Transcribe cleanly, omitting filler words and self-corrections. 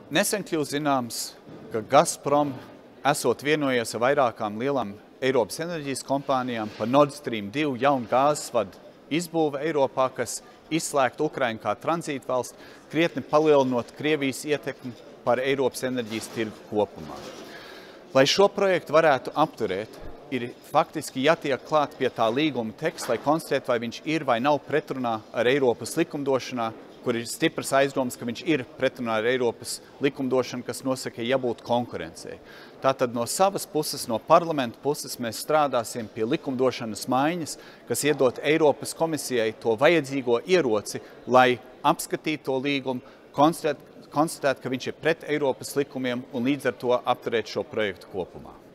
Nesen kļūst zināms, ka Gazprom esot vienojies ar vairākām lielām Eiropas enerģijas kompānijām par Nord Stream 2 jaunu gāzes vadu izbūve Eiropā, kas izslēgt Ukrainu kā tranzītvalsts, krietni palielinot Krievijas ietekmi par Eiropas enerģijas tirgu kopumā. Lai šo projektu varētu apturēt, ir faktiski jātiek klāt pie tā līguma teksta, lai konstatētu, vai viņš ir vai nav pretrunā ar Eiropas likumdošanā, kur ir stipras aizdomas, ka viņš ir pretrunā ar Eiropas likumdošanu, kas nosaka, jābūt konkurencei. Tātad no savas puses, no parlamenta puses, mēs strādāsim pie likumdošanas maiņas, kas iedot Eiropas komisijai to vajadzīgo ieroci, lai apskatītu to līgumu, konstatēt, ka viņš ir pret Eiropas likumiem un līdz ar to apturēt šo projektu kopumā.